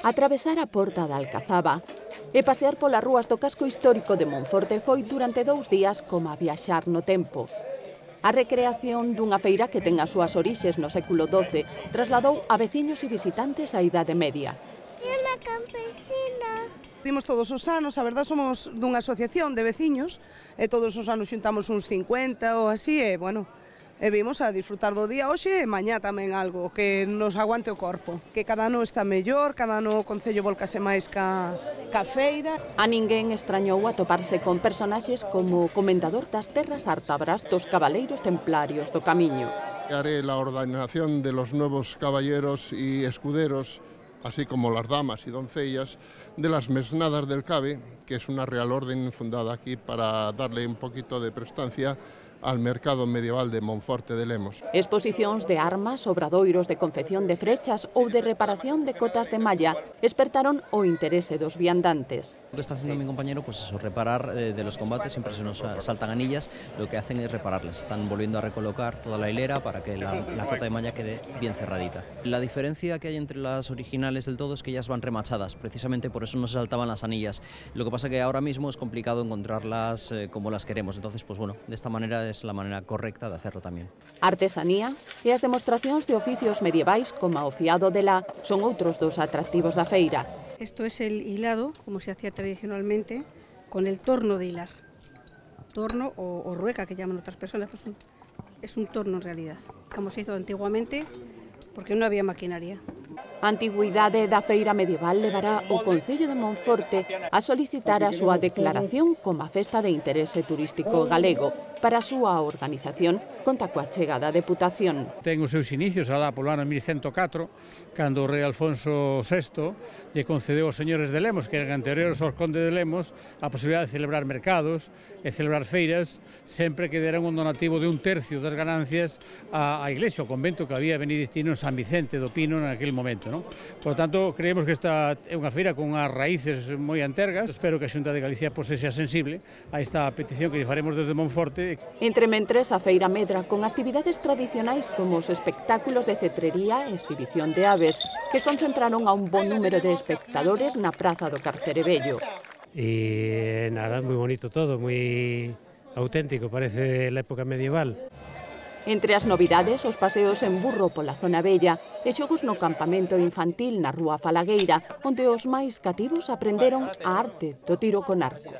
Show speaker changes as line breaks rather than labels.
Atravesar a Porta da Alcazaba e pasear polas rúas do casco histórico de Monforte foi durante 2 días como a viaxar no tempo. A recreación dunha feira que ten as súas orixes no século XII trasladou a veciños e visitantes á Idade Media.
É unha campesina.
Dimos todos os anos, a verdad somos dunha asociación de veciños e todos os anos xuntamos uns 50 ou así e, bueno, e vimos a disfrutar do día hoxe e mañá tamén algo que nos aguante o corpo. Que cada ano está mellor, cada ano o Concello volcase máis ca feira.
A ninguén extrañou atoparse con personaxes como o comendador das terras ártabras dos cabaleiros templarios do Camiño.
Haré la ordenación de los nuevos caballeros y escuderos, así como las damas y doncellas de las mesnadas del Cabe, que es una real orden fundada aquí para darle un poquito de prestancia al mercado medieval de Monforte de Lemos.
Exposicións de armas, obradoiros de confección de frechas ou de reparación de cotas de malla despertaron o interese dos viandantes.
Lo que está haciendo mi compañero, pues eso, reparar de los combates, siempre se nos saltan anillas, lo que hacen es repararlas. Están volviendo a recolocar toda la hilera para que la cota de malla quede bien cerradita. La diferencia que hay entre las originales del todo es que ellas van remachadas, precisamente por eso no se saltaban las anillas. Lo que pasa que ahora mismo es complicado encontrarlas como las queremos, entonces pues bueno, de esta manera es la manera correcta de hacerlo tamén.
Artesanía e as demostracións de oficios medievais como o fiado de la son outros dos atractivos da feira.
Esto es el hilado, como se hacía tradicionalmente, con el torno de hilar. Torno o rueca, que llaman otras personas, pues es un torno en realidad, como se hizo antiguamente, porque non había maquinaria.
A antigüidade da feira medieval levará o Concello de Monforte a solicitar a súa declaración como a festa de interese turístico galego. Para a súa organización conta coa chegada da Deputación.
Ten os seus inicios alá polo ano 1104, cando o rei Alfonso VI lle concedeu aos señores de Lemos, que eran anteriores aos condes de Lemos, a posibilidade de celebrar mercados e celebrar feiras, sempre que deran un donativo de 1/3 das ganancias á iglesia, ao convento que había benedictino en San Vicente do Pino naquele momento. ¿no? Por lo tanto, creemos que esta é unha feira con as raíces moi antergas. Espero que a Xunta de Galicia pues, sea sensible a esta petición que lle faremos desde Monforte.
Entre mentres, a feira medra con actividades tradicionais como os espectáculos de cetrería e exhibición de aves, que concentraron a un bon número de espectadores na Praza do Carcerebello.
E nada, moi bonito todo, moi auténtico, parece la época medieval.
Entre as novidades, os paseos en burro pola zona bella e xogos no campamento infantil na Rúa Falagueira, onde os máis cativos aprenderon a arte do tiro con arco.